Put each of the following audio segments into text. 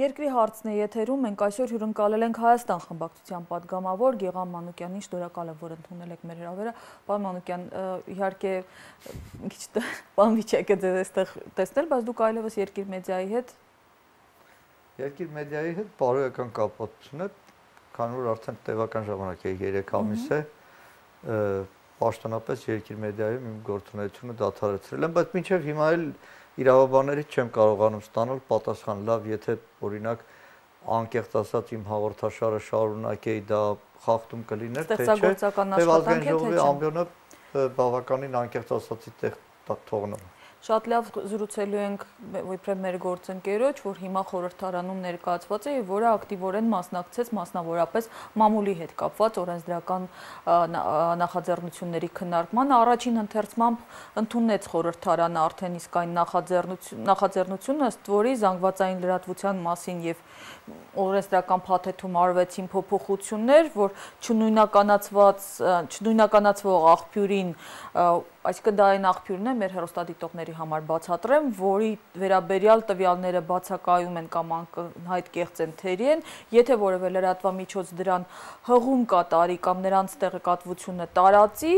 Երկրի հարցն է եթերում, մենք այսօր հյուրընկալել ենք Հայաստան խմբակցության պատգամավոր Գեղամ Մանուկյանին, շնորհակալ եմ, որ ընդունել եք մեր հրավերը։ Պարոն Մանուկյան, իհարկե մի քիչ բանվիճակ է ձեզ այստեղ տեսնել, բայց դուք այլևս Երկիր մեդիայի հետ Երկիր մեդիայի հետ բարոյական կապվածություն է, քանի որ արդեն տևական ժամանակ է 3 ամիս է, պաշտոնապես Երկիր մեդիայում իմ գործունեությունը դադարեցրել եմ, բայց մինչև հիմա էլ իրավաբաններից չեմ կարողանում ստանալ պատասխան, լավ, եթե օրինակ անկեղծ ասած իմ հաղորդաշարը շարունակեի, դա խախտում կլիներ, թե չէ, թե Ազգային ժողովի ամբիոնը բավականին անկեղծ ասածի տեղ թողնում։ Շատ լավ զրուցելու ենք իբրև մեր գործընկերոջ, որ հիմա խորհրդարանում ներկայացված է, որը ակտիվորեն մասնակցեց մասնավորապես մամուլի հետ կապված օրենսդրական նախաձեռնությունների քննարկմանը, առաջին ընթերցմամբ ընդունեց խորհրդարանը արդեն իսկ այն նախաձեռնությունը, ըստ որի զանգվածային լրատվության մասին եւ օրենսդրական փաթեթում արվեցին փոփոխություններ, որ չնույնականացվող աղբյուրին, այսինքն դա այն աղբյուրն է մեր հեռուստադիտողների համար բացատրեմ, որի վերաբերյալ տվյալները բացակայում են կամ անկայուն կեղծ են թերի են, եթե որևէ լրատվամիջոց դրան հղում կատարի կամ նրանց տեղեկատվությունը տարածի,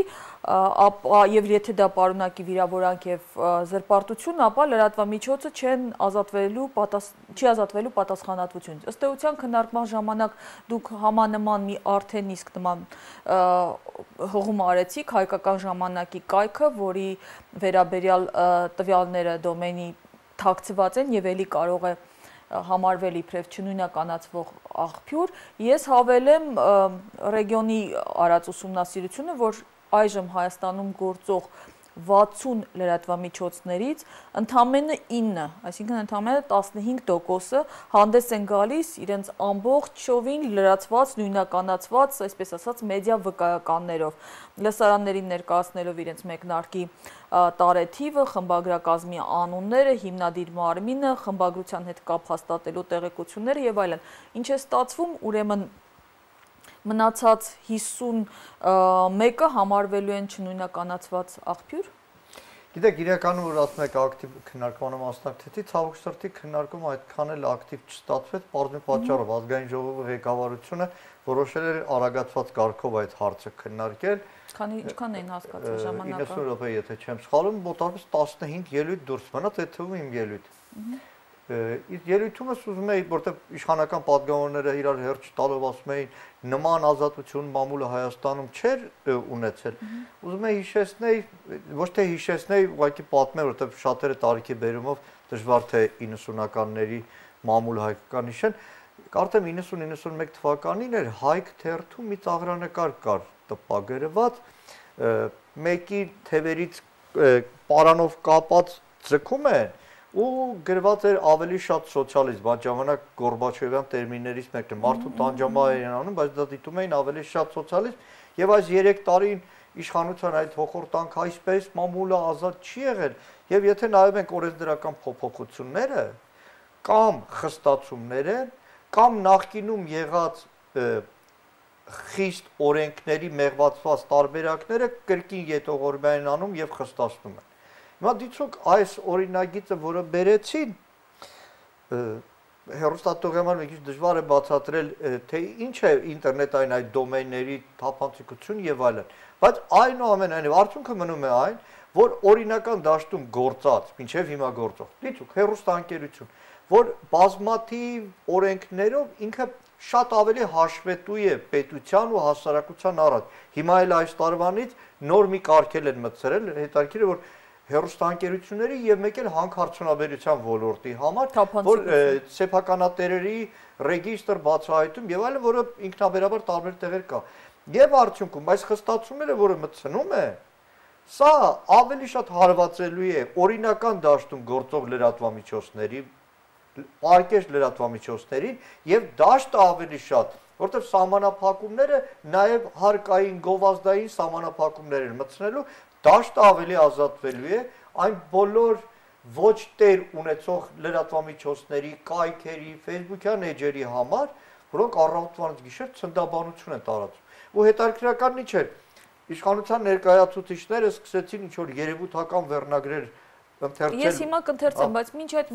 եւ եթե դա պարունակի վիրավորանք եւ զրպարտություն, ապա լրատվամիջոցը չի ազատվելու պատասխանատվությունից։ Ըստ էության քննարկման ժամանակ դուք համանման մի արդեն իսկ նման հղում արեցիք հայկական ժամանակի կայքը, որի վերաբերյալ տվյալները դոմենի թաքցված են եւ ելի կարող է համարվել իբրև չնույնականացվող աղբյուր։ Ես հավելեմ ռեգիոնի արած ուսումնասիրությունը, որ այժմ Հայաստանում գործող 60 լրատվամիջոցներից ընդամենը 9, այսինքն ընդամենը 15% հանդես են գալիս իրենց ամբողջովին լրացված, նույնականացված, այսպես ասած, մեդիա վկայականներով, լսարաններին ներկայացնելով իրենց մեկնարկի տարեթիվը, խմբագրակազմի անունները, հիմնադիր մարմինը, խմբագրության հետ կապ հաստատելու տեղեկությունները եւ այլն։ Ինչ է ստացվում, ուրեմն մնացած 51-ը համարվելու են չնույնականացված աղբյուր։ Գիտեք, իրականում որ ասում եք ակտիվ քննարկմանը մասնակցեցի, ցավոք սրտի քննարկումը այդքան էլ ակտիվ չստացվեց, բարձր պատճառով Ազգային ժողովի ղեկավարությունը որոշել էր արագացված կարգով այդ հարցը քննարկել։ Ինչքան էին հասկացել ժամանակը։ 90 րոպե, եթե չեմ սխալվում, մոտավորապես 15 ելույթ դուրս մնաց, այդ թվում իմ ելույթը։ Իսկ ելույթումս ուզում էի, որտեղ իշխանական պատգամավորները իրար հերթ տալով ասում էին նման ազատություն մամուլը Հայաստանում չէր ունեցել։ Ուզում էի հիշեցնել, ոչ թե հիշեցնել, ուղղակի պատմել, որտեղ շատերը տարիքի բերումով դժվար թե 90-ականների մամուլ հայկական հիշեն։ Կարծեմ 90-91 թվականին էր Հայք թերթում մի ծաղրանկար կար տպագրված, մեկի թևերից պարանով կապած ձգում են ու գրված էր ավելի շատ սոցիալիզմ, այդ ժամանակ Գորբաչովյան տերմիններից մեկն է, մարդու տանջամահ էին անում, բայց դա դիտում էին ավելի շատ սոցիալիզմ, եւ այս 3 տարին իշխանության այդ հոխորտանք այսպես մամուլը ազատ չի եղել, եւ եթե նայում ենք օրենսդրական փոփոխությունները կամ խստացումները, կամ նախկինում եղած խիստ օրենքների մեղվածված տարբերակները կրկին ետողորմյան են անում եւ խստացնում են։ Հիմա դիցուք այս օրինագիծը, որը բերեցին, հեռուստատողական մի քիչ դժվար է բացատրել, թե ինչ է ինտերնետային այդ դոմեյնների թափանցիկություն եւ այլն, բայց այնուամենայնիվ արդյունքը մնում է այն, որ օրինական դաշտում գործած, մինչեւ հիմա գործող, դիցուք հեռուստաընկերություն, որ բազմաթիվ օրենքներով ինքը շատ ավելի հաշվետու է պետության ու հասարակության առաջ։ Հիմա էլ այս տարվանից նոր մի կարգել են մտցրել, հետաքրքիր է, որ հեռուստաընկերությունների եւ մեկ էլ հանքարդյունաբերության ոլորտի համար, որ սեփականատերերի ռեգիստր բացահայտում եւ այլն, որը ինքնաբերաբար տարբեր տեղեր կա։ Եվ արդյունքում այս խստացումները, որը մտցնում է, սա ավելի շատ հարվածելու է օրինական դաշտում գործող լրատվամիջոցների, պարկեշտ լրատվամիջոցներին եւ դաշտը ավելի շատ, որտեղ սահմանափակումները նաեւ հարկային գովազդային սահմանափակումներ են մտցնելու, դաշտը ավելի ազատվելու է այն բոլոր ոչ տեր ունեցող լրատվամիջոցների, կայքերի, Facebook-յան էջերի համար, որոնք առավոտվանից գիշեր ցնդաբանություն են տարածում։ Ու հետաքրքրականն ինչ էր, իշխանության ներկայացուցիչները սկսեցին ինչ որ երևութական վերնագրեր Ես հիմա կընթերցեմ, բայց մինչ այդ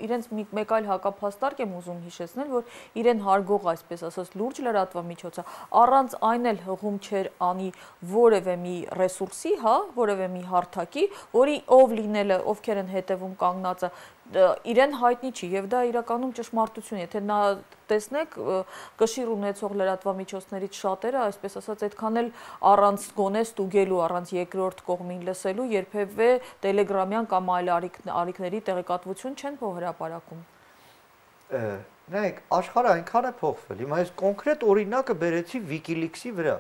իրենց մեկ այլ հակափաստարկ եմ ուզում հիշեցնել, որ իրեն հարգող, այսպես ասած, լուրջ լրատվամիջոցը առանց այն էլ հղում չէր անի որևէ մի ռեսուրսի, հա, որևէ մի հարթակի, որի ով լինելը, ովքեր են հետևում կանգնածը, իրեն հայտնի չի եւ դա իրականում ճշմարտություն է, եթե նա տեսնեք կշիռ ունեցող լրատվամիջոցներից շատերը, այսպես ասած, այդքան էլ առանց գոնե ստուգելու, առանց երկրորդ կողմին լսելու երբևէ տելեգրամյան կամ այլ ալիքների տեղեկատվություն չեն հրապարակում։ Նայեք, աշխարհը այնքան է փոխվել։ Հիմա այս կոնկրետ օրինակը բերեցի WikiLeaks-ի վրա։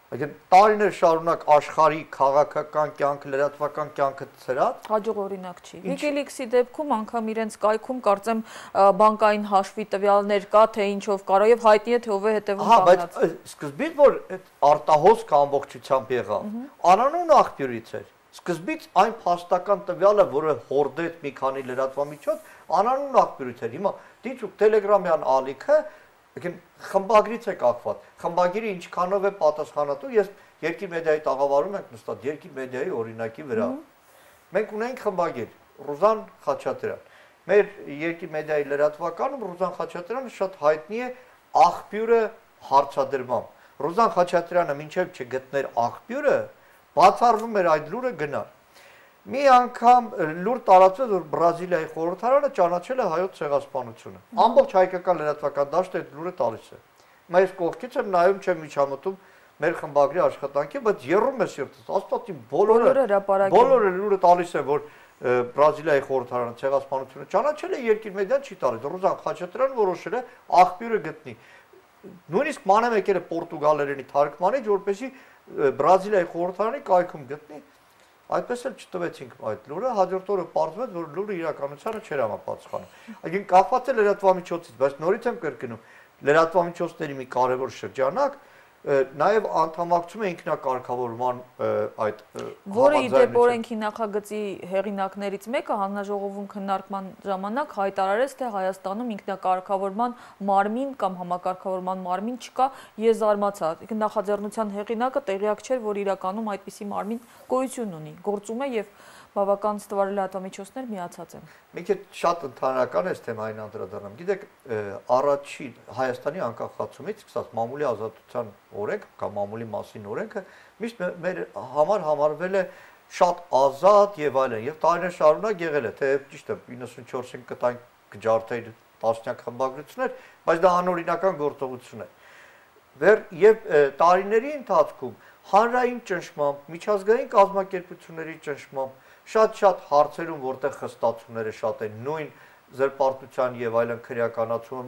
Այսինքն տարիներ շարունակ աշխարհի քաղաքական կյանքը, լրատվական կյանքը ցրած հաջող օրինակ չի։ WikiLeaks-ի դեպքում անգամ իրենց կայքում կարծեմ բանկային հաշվի տվյալներ կա, թե ինչով կարող եւ հայտնի է թե ով է հետևում կանգնած։ Հա, բայց սկզբից որ այդ արտահոսքը ամբողջությամբ եղավ, անանուն աղբյուրից էր։ Սկզբից այն փաստական տվյալը, որը հորդեց մի քանի լրատվամիջոց, անանուն աղբյուրից էր։ Հիմա դիցուկ Telegram-յան ալիքը խմբագրից է կապված։ Խմբագիրը ինչքանով է պատասխանատու, ես Երկիր մեդիայի տաղավարում ենք նստած Երկիր մեդիայի օրինակի վրա։ Մենք ունենք խմբագիր Ռուզան Խաչատրյան։ Մեր Երկիր մեդիայի լրատվականում Ռուզան Խաչատրյանը շատ հայտնի է աղբյուրը հարցադրմամբ։ Ռուզան Խաչատրյանը մինչև չգտներ աղբյուրը, բացառվում էր այդ լուրը գնալ։ Մի անգամ լուր տարածվեց, որ Բրազիլիայի խորհրդարանը ճանաչել է հայոց ցեղասպանությունը։ Ամբողջ հայկական լրատվական դաշտը այդ լուրը տալիս է։ Հիմա ես կողքից եմ նայում, չեմ միջամտում մեր խմբագրի աշխատանքի, բայց երրում է սիրտս։ Աստված իմ բոլորը լուրը տալիս է, որ Բրազիլիայի խորհրդարանը ցեղասպանությունը ճանաչել է, Երկիր մեդիան չի տալիս։ Ռուզան Խաչատրյանը որոշել է աղբյուրը գտնի։ Նույնիսկ մանեմ եկել է պորտուգալերենի թարգմանիչ, որպեսզի Բրազիլիայի խորհրդարանի կայքում գտնի։ Այդպես էլ չտվեցինք այդ լուրը, հաջորդ օրը պարզվեց, որ լուրը իրականությանը չէր համապատասխանում։ Այսինքն կախված է լրատվամիջոցից, բայց նորից եմ կրկնում, լրատվամիջոցների մի կարևոր շրջանակ նաև անդամակցում է ինքնակարգավորման այդ որը իդեպ օրենքի նախագծի հեղինակներից մեկը հանձնաժողովում քննարկման ժամանակ հայտարարեց, թե Հայաստանում ինքնակարգավորման մարմին կամ համակարգավորման մարմին չկա, ես զարմացա։ Նախաձեռնության հեղինակը տեղյակ չէր, որ իրականում այդպիսի մարմին գոյություն ունի, գործում է եւ բավական ստվար լրատվամիջոցներ միացած են։ Մի քիչ շատ ընդհանրական է թեմային անդրադառնամ։ Գիտեք, առաջին Հայաստանի անկախացումից սկսած մամուլի ազատության օրենք կամ մամուլի մասին օրենքը միշտ մեր համար համարվել է շատ ազատ եւ այլն, եւ տարիներ շարունակ եղել է, թե ճիշտ է 94-ին կտանք կջարդեի տասնյակ խմբագրություններ, բայց դա անօրինական գործողություն է։ Եվ տարիների ընթացքում հանրային ճնշմամբ, միջազգային կազմակերպությունների ճնշմամբ շատ հարցերում, որտեղ խստացումները շատ են, նույն զրպարտության եւ այլն քրեականացումը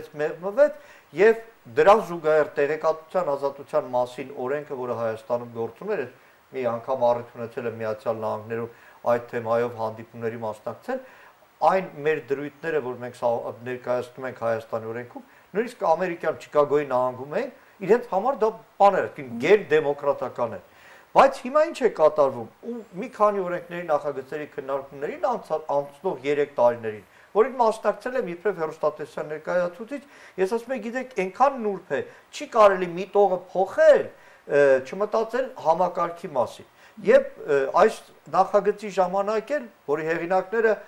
մեղմվեց եւ դրան զուգահեռ տեղեկատվության ազատության մասին օրենքը, որը Հայաստանում գործում էր, մի անգամ առիթ ունեցել է Միացյալ Նահանգներում այդ թեմայով հանդիպումների մասնակցել, այն մեր դրույթները, որ մենք ներկայացնում ենք Հայաստանի օրենքում, նույնիսկ ամերիկյան Չիկագոյի նահանգում են, իրենց համար դա բաներ է, գերդեմոկրատական է։ Բայց հիմա ինչ է կատարվում, ու մի քանի օրենքների նախագծերի քննարկումներին անցնող 3 տարիներին, որին մասնակցել եմ իբրև հեռուստատեսության ներկայացուցիչ, ես ասում եմ, գիտեք, այնքան նուրբ է, չի կարելի մի տողը փոխել, չմտածել համակարգի մասին։ Եվ այս նախագծի ժամանակ էլ, որի հեղինակները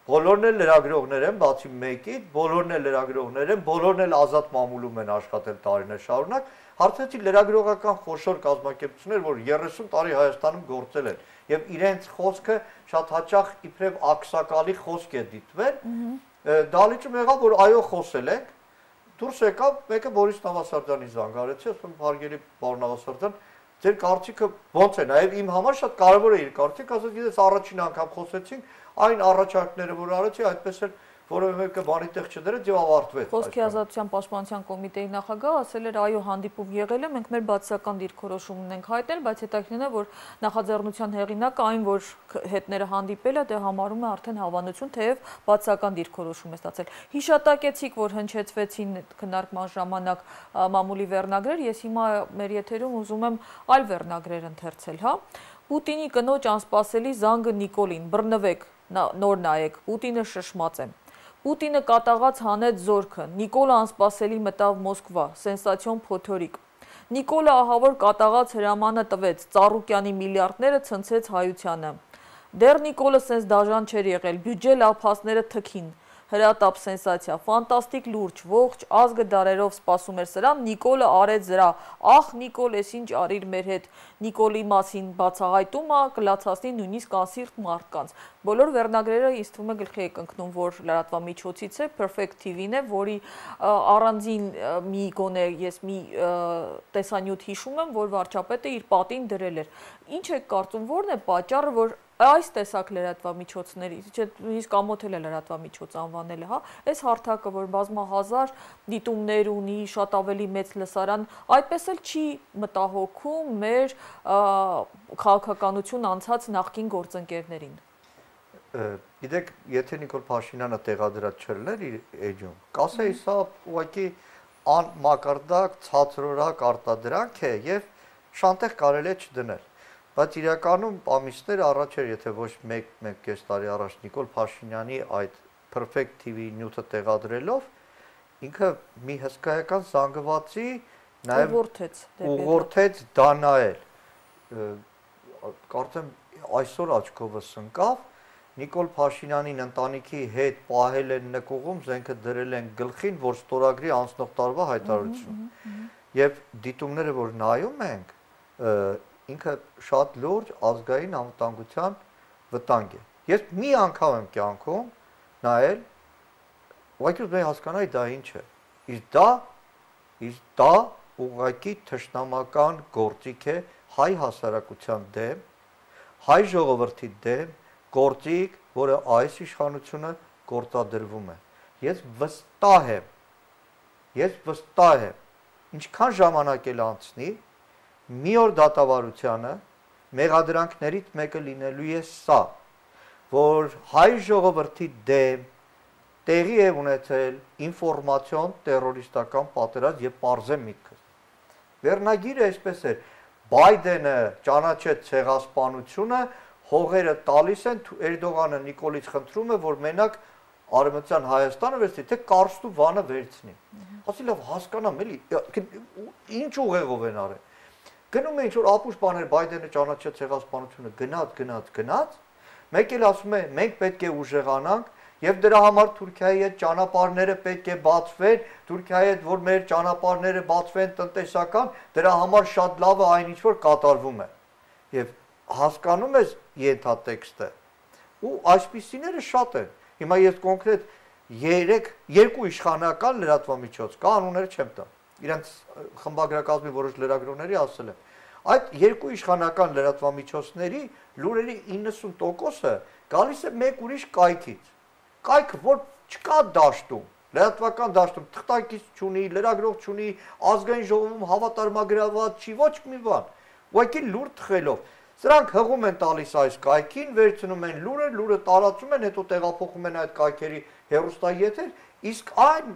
բոլորն էլ լրագրողներ են, բացի մեկից, բոլորն էլ լրագրողներ են, բոլորն էլ ազատ մամուլում են աշխատել տարիներ շարունակ, հարցեցի լրագրողական խոշոր կազմակերպություններ, որ 30 տարի Հայաստանում գործել են, եւ իրենց խոսքը շատ հաճախ իբրև ակսակալի խոսք է դիտվել, դալիճում եղավ, որ այո խոսել ենք, դուրս եկավ, մեկը Բորիս Նավասարդյանի զանգարեցի, ասում հարգելի պարոն Նավասարդյան, ձեր կարծիքը ոնց է, նաեւ իմ համար շատ կարեւոր է իր կարծիքը, ասած գիտես առաջին անգամ խոսեցինք, այն առաջարկները, որ արեցի, այդպես էլ որևէ մեկը բանի տեղ չդրեց եւ ավարտվեց։ Խոսքի ազատության պաշտպանության կոմիտեի նախագահը ասել էր, այո, հանդիպում եղել է, մենք մեր բացասական դիրքորոշում ունենք հայտնել, բայց հետաքրքրին է, որ նախաձեռնության հեղինակը այն, որ հետները հանդիպել է, դե համարում է արդեն հավանություն, թեև բացասական դիրքորոշում է ստացել։ Հիշատակեցիք, որ հնչեցվեցին քննարկման ժամանակ մամուլի վերնագրեր, ես հիմա մեր եթերում ուզում եմ այլ վերնագրեր ընթերցել, հա։ Պուտինի կնոջ անսպասելի զանգը Նիկոլին, բռնվեք, նոր նայեք, Պուտինը շշմած է։ Պուտինը կատաղած հանեց զորքը, Նիկոլը անսպասելի մտավ Մոսկվա, սենսացիոն փոթորիկ։ Նիկոլը ահավոր կատաղած հրամանը տվեց, Ծառուկյանի միլիարդները ցնցեց հայությանը։ Դեռ Նիկոլը սենց դաժան չէր եղել, բյուջե լափասները թքին։ Հրատապ սենսացիա, ֆանտաստիկ լուրջ, ողջ ազգը դարերով սպասում էր սրան, Նիկոլը արեց զրա, ախ Նիկոլ, ես ինչ արիր մեր հետ, Նիկոլի մասին բացահայտումը կլացացնի նույնիսկ անսիրտ մարդկանց։ Բոլոր վերնագրերը ինձ թվում է գլխի եք ընկնում, որ լրատվամիջոցից է, Perfect TV-ն է, որի առանձին մի գոնե ես մի տեսանյութ հիշում եմ, որ վարչապետը իր պատին դրել էր։ Ինչ եք կարծում, որն է պատճառը, որ այս տեսակ լրատվամիջոցների, նույնիսկ ամոթել է լրատվամիջոց անվանելը, հա, այս հարթակը, որ բազմահազար դիտումներ ունի, շատ ավելի մեծ լսարան, այդպես էլ չի մտահոգում մեր քաղաքականություն անցած նախկին գործընկերներին։ Գիտեք, եթե Նիկոլ Փաշինյանը տեղադրած չլներ իր էջում, կասեի սա ուղղակի անմակարդակ, ցածրորակ արտադրանք է եւ շանտեղ կարելի է չդնել։ Բայց իրականում ամիսներ առաջ էր, եթե ոչ 1-1.5 տարի առաջ Նիկոլ Փաշինյանի այդ Perfect TV նյութը տեղադրելով, ինքը մի հսկայական զանգվածի նաև ուղղորդեց դա նայել։ Կարծեմ այսօր աչքովս ընկավ, Նիկոլ Փաշինյանին ընտանիքի հետ պահել են նկուղում, զենքը դրել են գլխին, որ ստորագրի անցնող տարվա հայտարարություն։ Եվ դիտումները, որ նայում ենք, ինքը շատ լուրջ ազգային անվտանգության վտանգ է։ Ես մի անգամ եմ կյանքում նայել, ուղղակի ուզում եմ հասկանալ դա ինչ է։ Իսկ դա ուղղակի թշնամական գործիք է հայ հասարակության դեմ, հայ ժողովրդի դեմ, գործիք, որը այս իշխանությունը գործադրվում է։ Ես վստահ եմ, ինչքան ժամանակ էլ անցնի, մի օր դատավարությանը մեղադրանքներից մեկը լինելու է սա, որ հայ ժողովրդի դեմ տեղի է ունեցել ինֆորմացիոն տերորիստական պատերազմ եւ պարզեմ միտքս։ Վերնագիրը այսպես էր. Բայդենը ճանաչեց ցեղասպանությունը, հողերը տալիս են, Էրդողանը Նիկոլից խնդրում է, որ մենակ Արևմտյան Հայաստանը վերցնի, թե Կարստու վանը վերցնի։ Ասի լավ հասկանամ էլի, ինչ ուղեղով են արել։ Գնում է ինչ-որ ապուշ բաներ, Բայդենը ճանաչեց ցեղասպանությունը, գնաց, մեկ էլ ասում է, մենք պետք է ուժեղանանք, եւ դրա համար Թուրքիայի հետ ճանապարհները պետք է բացվեն, Թուրքիայի հետ որ մեր ճանապարհները բացվեն տնտեսական, դրա համար շատ լավ է այն ինչ որ կատարվում է։ Եվ հասկանում ես ենթատեքստը։ Ու այսպիսիները շատ են։ Հիմա ես կոնկրետ 2 իշխանական լրատվամիջոց կա, անունները չեմ տա։ Իրենց խմբագրակազմի որոշ լրագրողների ասել եմ։ Այդ 2 իշխանական լրատվամիջոցների լուրերի 90%-ը գալիս է մեկ ուրիշ կայքից։ Կայքը, որ չկա դաշտում, լրատվական դաշտում, թղթակից չունի, լրագրող չունի, ազգային ժողովում հավատարմագրաված չի, ոչ մի բան, ուղղակի լուր թխելով։ Սրանք հղում են տալիս այս կայքին, վերցնում են լուրը տարածում են, հետո տեղափոխում են այդ կայքերի հեռուստաեթեր, իսկ այն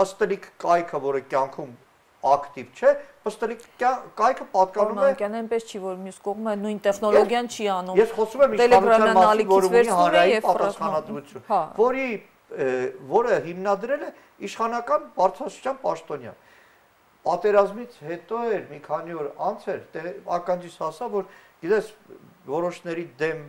պստլիկ կայքը, որը կյանքում ակտիվ չէ, պստլիկ կայքը պատկանում է։ Անկյան այնպես չի, որ մյուս կողմը նույն տեխնոլոգիան չի անում։ Ես խոսում եմ իշխանության մասին, որ ունի հանրային պատասխանատվություն, որը հիմնադրել է իշխանական բարձրաստիճան պաշտոնյա։ Պատերազմից հետո էր մի քանի օր անց էր ականջիս հասա, որ գիտես որոշների դեմ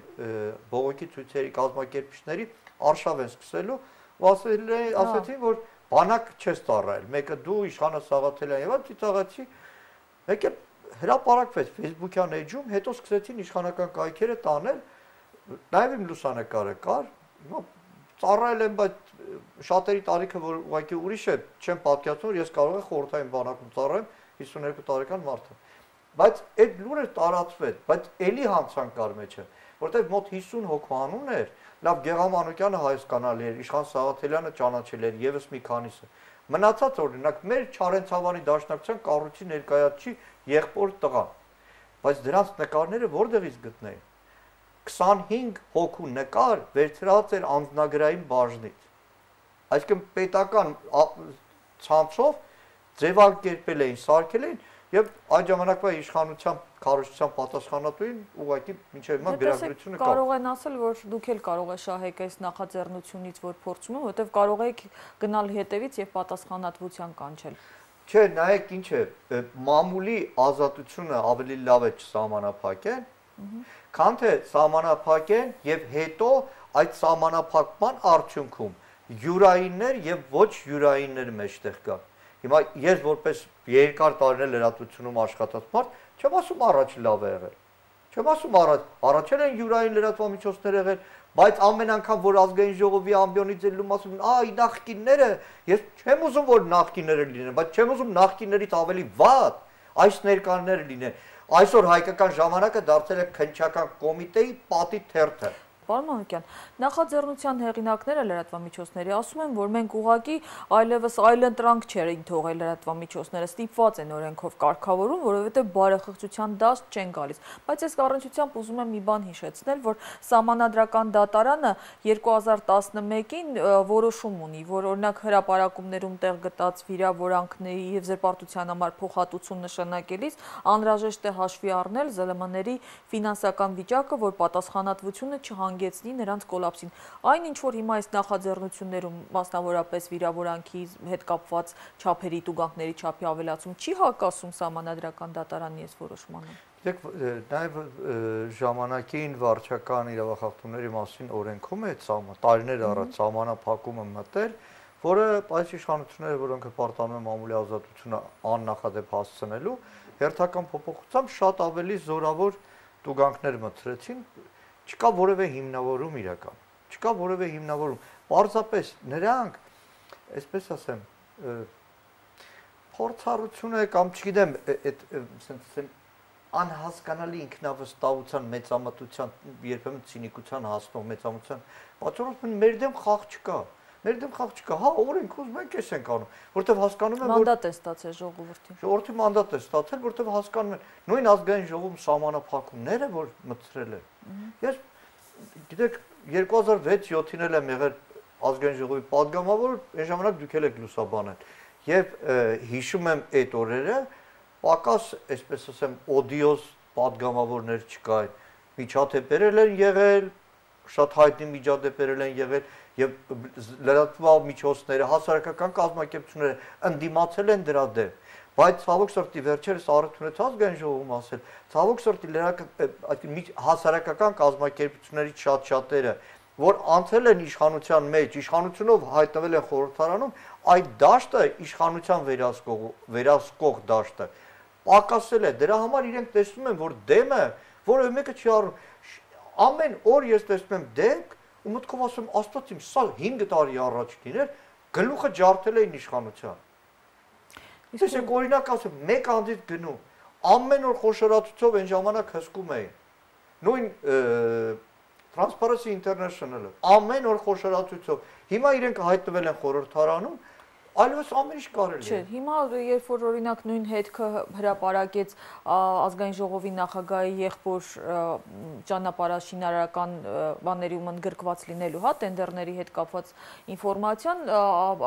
բողոքի ցույցերի կազմակերպիչների արշավ են սկսելու, ու ասեցին, որ բանակ չես ծառայել, մեկը դու իշխանը Սաղաթելյան եւ այլ ծիծաղացի, մեկը հրապարակվեց Facebook-յան էջում, հետո սկսեցին իշխանական կայքերը տանել, նաեւ իմ լուսանկարը կար, հիմա ծառայել եմ, բայց շատերի տարիքը որ ուղղակի ուրիշ է, չեմ պատկերացնում, որ ես կարող եմ խորհրդային բանակում ծառայեմ 52 տարեկան մարդ եմ։ Բայց այդ լուրը տարածվեց, բայց էլի հանցանք կար մեջը, որտեղ մոտ 50 հոգու անուն էր, լավ Գեգամ Մանուկյանը հայաստանալի էր, Իշխան Սաղաթելյանը ճանաչել էր, եւս մի քանիսը։ Մնացած օրինակ մեր Չարենցավանի դաշնակցության կառույցի ներկայացուցիչ եղբոր տղան։ Բայց դրանց նկարները որտեղից գտնեին։ 25 հոգու նկար վերցրած էր անձնագրային բաժնից։ Այսինքն պետական ցանցով ձևակերպել էին, սարքել էին եւ այդ ժամանակվա իշխանության քարոզչության պատասխանատուին ուղղակի մինչեւ հիմա գրագրությունը կա։ Կարող են ասել, որ դուք էլ կարող եք շահեք այս նախաձեռնությունից, որ փորձում են, որովհետեւ կարող եք գնալ հետևից եւ պատասխանատվության կանչել։ Չէ, նայեք ինչ է, մամուլի ազատությունը ավելի լավ է չսահմանափակեն, քան թե սահմանափակեն եւ հետո այդ սահմանափակման արդյունքում յուրայիններ եւ ոչ յուրայիններ մեջտեղ կան։ Հիմա ես որպես երկար տարիներ լրատվությունում աշխատած մարդ չեմ ասում առաջ լավ է եղել։ Չեմ ասում առաջել են յուրային լրատվամիջոցներ եղել, բայց ամեն անգամ որ ազգային ժողովի ամբիոնից ելնում ասում այ նախկինները, ես չեմ ուզում որ նախկինները լինեն, բայց չեմ ուզում նախկիններից ավելի վատ այս ներկաները լինեն։ Այսօր հայկական ժամանակը դարձել է քննչական կոմիտեի պատի թերթը։ Պարոն Մանուկյան, նախաձեռնության հեղինակները լրատվամիջոցների ասում են, որ մենք ուղղակի այլևս այլընտրանք չեն թողել լրատվամիջոցները, ստիպված են օրենքով կարգավորում, որովհետև բարեխղճության դաշտ չեն գալիս։ Բայց ես առնչությամբ ուզում եմ մի բան հիշեցնել, որ Սահմանադրական դատարանը 2011-ին որոշում ունի, որ օրինակ հրապարակումներում տեղ գտած վիրավորանքների եւ զրպարտության համար փոխհատուցում նշանակելիս անհրաժեշտ է հաշվի առնել ԶԼՄ-ների ֆինանսական վիճակը, որ պատասխանատվությունը չհանգեցնի նրանց կոլապսին։ Այն ինչ որ հիմա այս նախաձեռնություններում մասնավորապես վիրավորանքի հետ կապված չափերի տուգանքների չափի ավելացում չի հակասում Սահմանադրական դատարանի այս որոշմանը։ Նաև ժամանակին վարչական իրավախախտումների մասին օրենքում է տարիներ առաջ սահմանափակումը մտել, որը այս իշխանությունները, որոնք պարտանում են մամուլի ազատությունը աննախադեպ հասցնելու, հերթական փոփոխությամբ շատ ավելի զորավոր տուգանքներ մտցրեցին, չկա որևէ հիմնավորում իրական, չկա որևէ հիմնավորում, պարզապես նրանք, այսպես ասեմ, փորձառությունը կամ չգիտեմ, այդ անհասկանալի ինքնավստահության, մեծամտության, երբեմն ցինիկության հասնող մեծամտության պատճառով մեր դեմ խաղ չկա։ Մեր դեմ խաղ չկա, հա, օրենք ուզում ենք էս ենք անում, որտեվ հասկանում են, որ մանդատ է ստացել ժողովրդին։ Ժողովրդի մանդատ է ստացել, որտեվ հասկանում են, նույն ազգային ժողովում սահմանափակումները, որ մտցրել են։ Ես գիտեք 2006-7-ին էլ եմ եղել ազգային ժողովի падգամավոր, այն ժամանակ դուք եք լուսաբանել։ Եվ հիշում եմ այդ օրերը պակաս, այսպես ասեմ, օդիոս падգամավորներ չկային, միջադեպեր են եղել, շատ հայտնի միջադեպեր են եղել եւ լրատվամիջոցները, հասարակական կազմակերպությունները ընդդիմացել են դրա դեմ, բայց ցավոք սրտի վերջերս առթունեց ազգային ժողովում ասել, ցավոք սրտի հասարակական կազմակերպություններից շատ-շատերը, որ անցել են իշխանության մեջ, իշխանությունով հայտնվել են խորհրդարանում, այդ դաշտը իշխանության վերահսկող դաշտը պակասել է, դրա համար իրենք տեսնում են, որ դեմը, որը մեկը չի առնում, ամեն օր ես տեսնում եմ դեպք, ու մտքով ասում, Աստված իմ, սա 5 տարի առաջ լիներ, գլուխը ջարդել էին իշխանության։ Ես եք օրինակ ասեմ, մեկ անձից գնում, ամեն օր խոշորացուցով այն ժամանակ հսկում էին։ Նույն Transparency International-ը, ամեն օր խոշորացուցով։ Հիմա իրենք հայտնվել են խորհրդարանում, այլևս ամեն ինչ կարելի է։ Չէ, հիմա երբ որ օրինակ նույն հետքը հրապարակեց ազգային ժողովի նախագահի եղբոր ճանապարհաշինարարական բաներում ընդգրկված լինելու, հա, տենդերների հետ կապված ինֆորմացիան,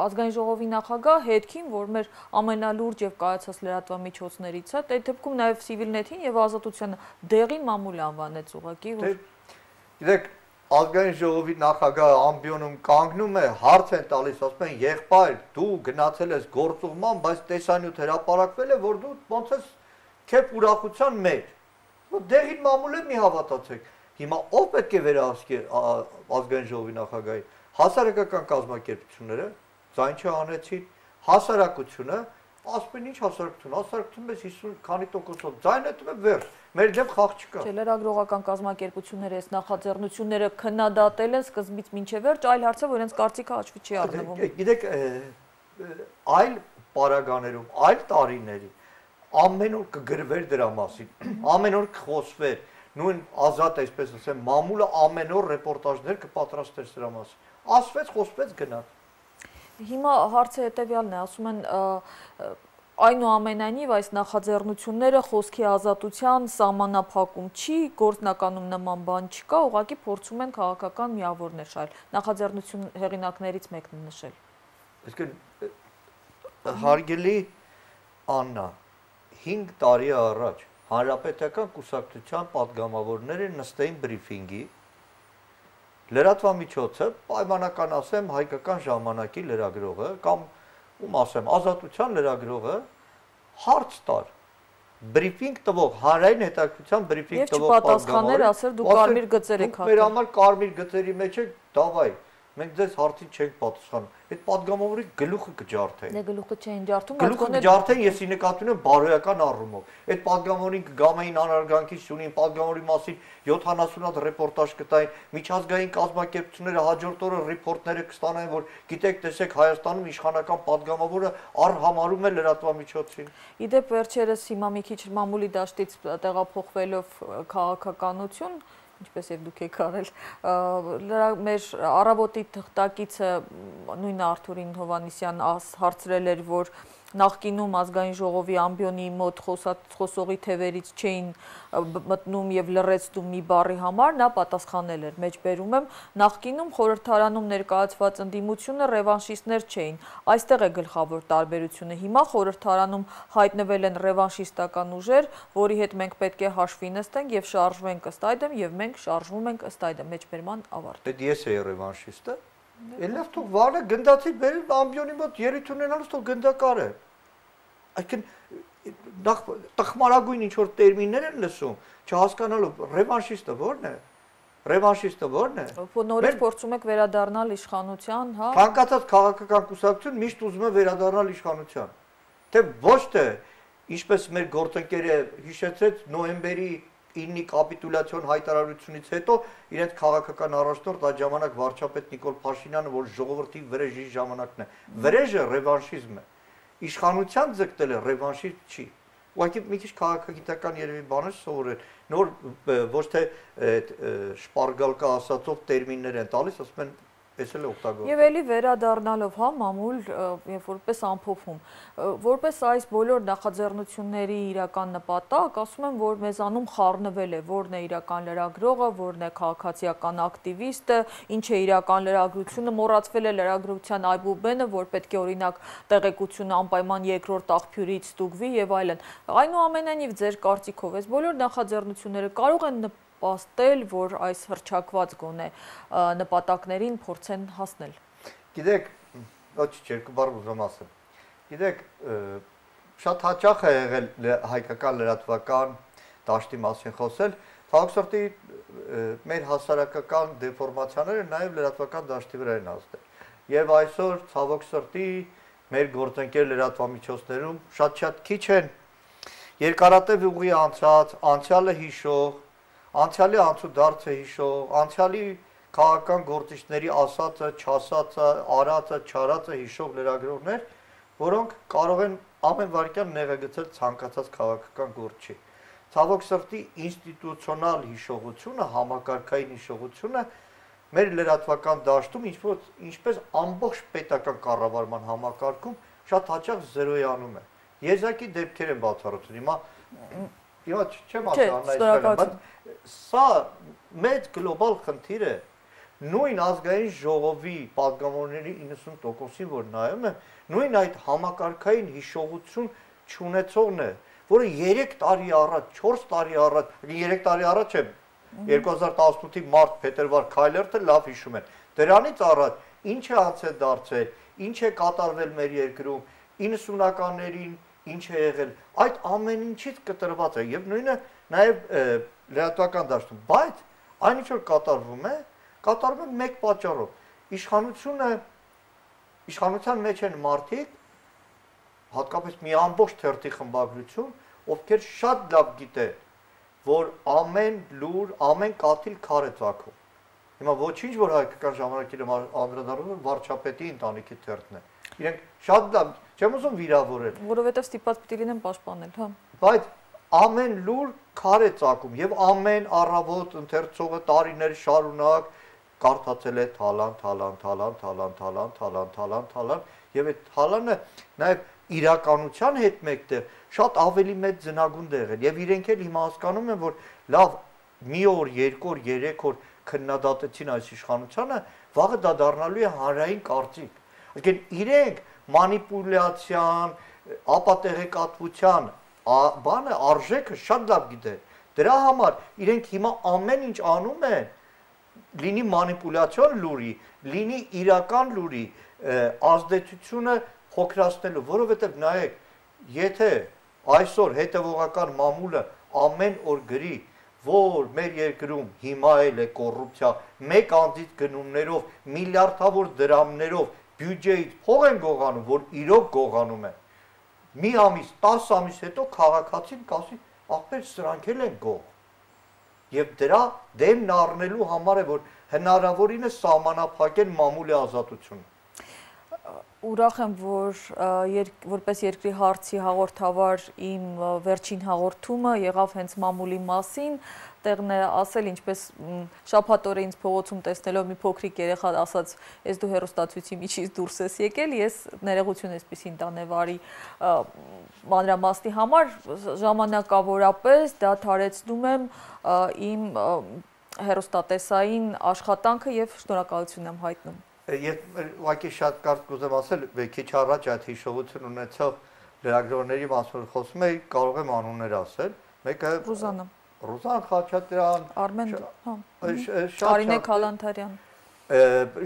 ազգային ժողովի նախագահ հետքին, որ մեր ամենալուրջ եւ կայացած լրատվամիջոցներից է, այդ դեպքում նաեւ Civilnet-ին եւ Ազատությանը դեղին մամուլ անվանեց ուղղակի, որ Գիտեք, ազգային ժողովի նախագահը ամբիոնում կանգնում է, հարց են տալիս, ասում են, եղբայր, դու գնացել ես գործուղման, բայց տեսանյութ հրապարակվել է, որ դու ոնց ես քեզ ուրախության մեջ։ Դեղին մամուլ է մի հավատացեք։ Հիմա ով պետք է վերահսկի ազգային ժողովի նախագահի, հասարակական կազմակերպությունները, ձայն չհանեցին, հասարակությունը, ասում են ինչ հասարակություն, հասարակությունը մեզ 50 քանի տոկոսով ձայն է տվել վերջ, մեր դեմ խաղ չկա։ Չէ, լրագրողական կազմակերպությունները այս նախաձեռնությունները քննադատել են սկզբից մինչև վերջ, այլ հարցը, որ իրենց կարծիքը հաշվի չի առնվում։ Գիտեք, այլ պարագաներում, այլ տարիների ամեն օր կգրվեր դրա մասին, ամեն օր կխոսվեր, նույն ազատ, այսպես ասեմ, մամուլը ամեն օր ռեպորտաժներ կպատրաստեր սրա մասին։ Ասվեց, խոսվեց, գնաց։ Հիմա հարցը հետևյալն է, ասում են այնուամենայնիվ այս նախաձեռնությունները խոսքի ազատության սահմանափակում չի, գործնականում նման բան չկա, ուղղակի փորձում են քաղաքական միավորներ շահել։ Նախաձեռնություն հեղինակներից մեկն է նշել։ Իսկ հարգելի Աննա, 5 տարի առաջ Հանրապետական կուսակցության պատգամավորները նստեին բրիֆինգի, լրատվամիջոցը, պայմանական ասեմ, հայկական ժամանակի լրագրողը կամ ում ասեմ, Ազատության լրագրողը հարց տար, բրիֆինգ տվող, հանրային հետաքրքրության բրիֆինգ տվող պատասխաններ ասել դու կարմիր գծեր եք հատել։ Մեր համար կարմիր գծերի մեջ եք, դավայ, մենք ձեզ հարցին չենք պատասխանում։ Այդ падգամավորի գլուխը կջարդեն։ Դե գլուխը չէին ջարդում, գլուխը կջարդեն, ես ի նկատի ունեմ բարոյական առումով։ Այդ падգամավորին կգամային անարգանքի շունին, падգամավորի մասին 70 հատ ռեպորտաժ կտային, միջազգային կազմակերպությունները հաջորդ օրը ռիփորտները կստանային, որ գիտեք, տեսեք, Հայաստանում իշխանական падգամավորը առհամարում է լրատվամիջոցին։ Իդեպ վերջերս հիմա մի քիչ մամուլի դաշտից տեղափոխվելով քաղաքականություն, ինչպես եւ դուք եք արել, մեր առավոտի թղթակիցը նույն Արթուրին Հովանիսյան հարցրել էր, որ նախկինում ազգային ժողովի ամբիոնի մոտ խոսողի թևերից չէին մտնում եւ լռեցնում մի բառի համար, նա պատասխանել էր, մեջբերում եմ, նախկինում խորհրդարանում ներկայացված ընդդիմությունը ռևանշիստներ չէին, այստեղ է գլխավոր տարբերությունը, հիմա խորհրդարանում հայտնվել են ռևանշիստական ուժեր, որի հետ մենք պետք է հաշվի նստենք եւ շարժվենք ըստ այդմ եւ մենք շարժվում ենք ըստ այդմ, մեջբերման ավարտ։ Դե ես էի ռևանշիստը։ Էլավ թող վարը գնդացի բերել ամբիոնի մոտ ելույթ ունենալուց թող գնդակար է։ Այսինքն նախ տխմարագույն ինչ որ տերմիններ են լսում, չհասկանալով ռևանշիստը ո՞րն է։ Ռևանշիստը ո՞րն է։ Նորից փորձում եք վերադառնալ իշխանության, հա։ Ցանկացած քաղաքական կուսակցություն միշտ ուզում է վերադառնալ իշխանության։ Թե ոչ թե ինչպես մեր գործընկերը հիշեցրեց նոյեմբերի 9-ի կապիտուլյացիոն հայտարարությունից հետո իրենց քաղաքական առաջնորդ այդ ժամանակ վարչապետ Նիկոլ Փաշինյանը, որ ժողովրդի վրեժի ժամանակն է։ Վրեժը ռևանշիզմ է։ Իշխանության ձգտելը ռևանշիզմ չի։ Ուղղակի մի քիչ քաղաքագիտական երևի բաներ սովորել։ Նոր ոչ թե շպարգալկա ասածով տերմիններ են տալիս, ասում են Էսել է օգտագործում։ Եվ էլի վերադառնալով, հա, մամուլ, որպես ամփոփում, որպես այս բոլոր նախաձեռնությունների իրական նպատակ, ասում եմ, որ մեզանում խառնվել է, որն է իրական լրագրողը, որն է քաղաքացիական ակտիվիստը, ինչ է իրական լրագրությունը, մոռացվել է լրագրության այբուբենը, որ պետք է օրինակ տեղեկությունը անպայման երկրորդ աղբյուրից ստուգվի եւ այլն։ Այնուամենայնիվ ձեր կարծիքով այս բոլոր նախաձեռնությունները կարող են պաստել, որ այս հռչակված գոնե նպատակներին փորձեն հասնել։ Գիտեք, ոչ երկու բառ ուզում ասեմ։ Գիտեք, շատ հաճախ է եղել հայկական լրատվական դաշտի մասին խոսել, ցավոք սրտի մեր հասարակական դեֆորմացիաները նաև լրատվական դաշտի վրա են ազդել։ Եվ այսօր ցավոք սրտի մեր գործընկեր լրատվամիջոցներում շատ քիչ են երկարատև ուղի անցած, անցյալը հիշող, անցյալի անցուդարձը հիշող, անցյալի քաղաքական գործիչների ասածը, չասածը, արածը, չարածը հիշող լրագրողներ, որոնք կարող են ամեն վայրկյան նեղագծել ցանկացած քաղաքական գործի։ Ցավոք սրտի ինստիտուցիոնալ հիշողությունը, համակարգային հիշողությունը մեր լրատվական դաշտում ինչպես ամբողջ պետական կառավարման համակարգում շատ հաճախ զերոյանում է։ Եզակի դեպքեր են բացառություն։ Հիմա չեմ ասում, բայց սա մեծ գլոբալ խնդիր է։ Նույն ազգային ժողովի падգամավորների 90%-ին, որ նայում եմ, նույն այդ համակարգային հիշողություն չունեցողն է, որը 3 տարի առաջ, 4 տարի առաջ, 3 տարի առաջ է 2018-ի մարտ-փետրվար Քայլերթը լավ հիշում են։ Դրանից առաջ ինչ է անցել դարձել, ինչ է կատարվել մեր երկրում, 90-ականներին ինչ է եղել, այդ ամեն ինչից կտրված է եւ նույնը նաեւ լրատվական դաշտում, բայց այն ինչ որ կատարվում է մեկ պատճառով։ Իշխանության մեջ են մարդիկ, հատկապես մի ամբողջ թերթի խմբագրություն, ովքեր շատ լավ գիտեն, որ ամեն լուր, ամեն կաթիլ քար է ծագում։ Հիմա ոչինչ որ հայկական ժամանակի անդրադառնում վարչապետի ընտանիքի թերթն է։ Իրենք շատ լավ, չեմ ուզում վիրավորել, որովհետև ստիպված պիտի լինեն պաշտպանել, հա։ Բայց ամեն լուր քար է ծագում եւ ամեն առավոտ ընթերցողը տարիներ շարունակ կարդացել է թալան եւ այդ թալանը նաեւ իրականության հետ մեկտեղ շատ ավելի մեծ ձնագունդ է եղել եւ իրենք էլ հիմա հասկանում են, որ լավ մի օր, երկու օր, երեք օր քննադատեցին այս իշխանությանը, վաղը դա դառնալու է հանրային կարծիք։ Այսինքն իրենք մանիպուլյացիան, ապատեղեկատվության բանը արժեքը շատ լավ գիտեն։ Դրա համար իրենք հիմա ամեն ինչ անում են, լինի մանիպուլյացիոն լուրի, լինի իրական լուրի, ազդեցությունը փոքրացնելու, որովհետև նայեք, եթե այսօր հետևողական մամուլը ամեն օր գրի, որ մեր երկրում հիմա էլ է կոռուպցիա, մեկ անձից գնումներով, միլիարդավոր դրամներով բյուջեից փող են գողանում, որ իրոք գողանում են։ Մի ամիս, 10 ամիս հետո քաղաքացին կասի, ախպեր սրանք էլ են գող։ Եվ դրա դեմն առնելու համար է, որ հնարավորինս սահմանափակեն մամուլի ազատությունը։ Ուրախ եմ, որ որպես երկրի հարցի հաղորդավար իմ վերջին հաղորդումը եղավ հենց մամուլի մասին, տեղն է ասել, ինչպես շաբաթ օրը ինձ փողոցում տեսնելով մի փոքրիկ երեխա ասաց, ես դու հեռուստացույցի միջից դուրս ես եկել, ես ներողություն այսպեսին տանեվարի մանրամասնի համար ժամանակավորապես դադարեցնում եմ իմ հեռուստատեսային աշխատանքը եւ շնորհակալություն եմ հայտնում։ Ես ուղղակի շատ կարճ կուզեմ ասել, քիչ առաջ այդ հիշողություն ունեցող լրագրողների մասին խոսում էի, կարող եմ անուններ ասել։ Մեկը Ռուզան Խաչատրյան, Արմեն, Կարինե Քալանթարյան։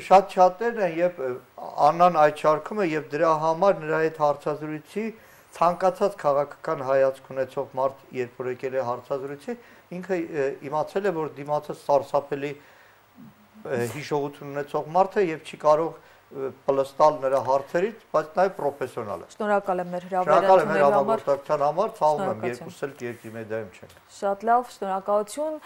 Շատ շատերն են եւ Աննան այդ շարքում է եւ դրա համար նրա այդ հարցազրույցի ցանկացած քաղաքական հայացք ունեցող մարդ, երբ որ եկել է հարցազրույցի, ինքը իմացել է, որ դիմացը սարսափելի հիշողություն ունեցող մարդ է եւ չի կարող պլստալ նրա հարցերից, բայց նաեւ պրոֆեսիոնալ է։ Շնորհակալ եմ մեր հրավերության համար, ցավում եմ, երկուսս էլ երկրի մեդայում չենք։ Շատ լավ, շնորհակալություն։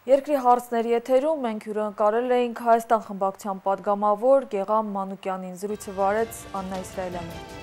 Երկրի հարցների եթերում մենք հյուրընկալել էինք Հայաստան խմբակցության պատգամավոր Գեղամ Մանուկյանին, զրույցը վարեց Աննա Իսրայելյանը։